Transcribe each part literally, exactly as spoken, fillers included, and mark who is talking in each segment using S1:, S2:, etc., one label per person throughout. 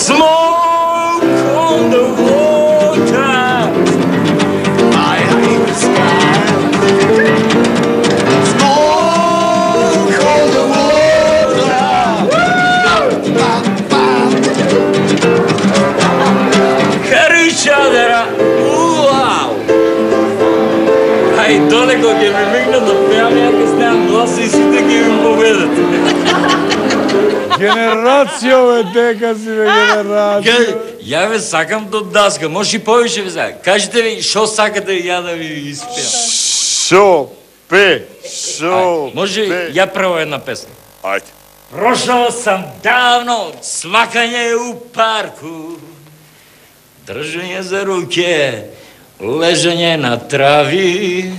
S1: Smoke on the water, I hate the sky. Smoke on the water, carry each other, wow. Ај долеко ќе ми мигнат да пеам, ја ќе снеам глас и сите ќе ми победат.
S2: Генерација, бе, дека си, бе, генерација.
S1: Ја ве сакам до даска, може и повише ве сакам. Кажете ви, шо сакате ја да ви испеам?
S2: Шо пе, шо
S1: може ја прво една песна.
S2: Ајде.
S1: Прошao sam davno svakanje u parku, držanje za ruke, ležanje na travi.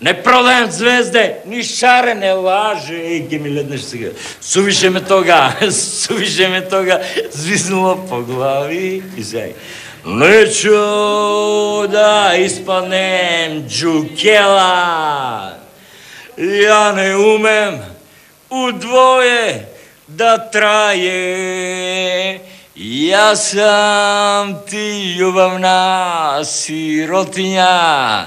S1: Не продаjem звезде, ни шарene laže. Ej, gdje mi ledneš сега. Suviše me toga, suviše me toga zviznulo po glavi. I сега. Neću da ispadnem džukela. Ja ne umem u dvoje da traje. Ja sam ti ljubavna sirotinja.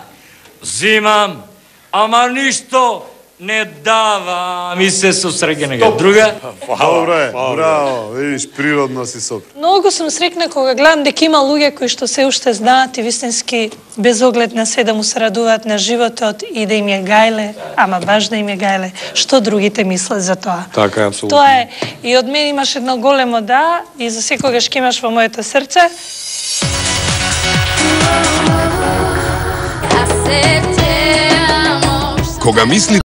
S1: Zimam, ама ништо не дава ми се со среќенега. Друга?
S2: Добре, браво, видиш, природно си сопр.
S3: Многу сум среќна кога гледам дека има луѓе кои што се уште знаат и вистински без оглед на се да му се радуваат на животот и да им е гајле, ама баш да им е гајле, што другите мислат за тоа.
S2: Така е, апсолутно.
S3: Тоа е, и од мене имаш едно големо да и за секогаш ќе имаш во моето срце.
S4: Кога мислите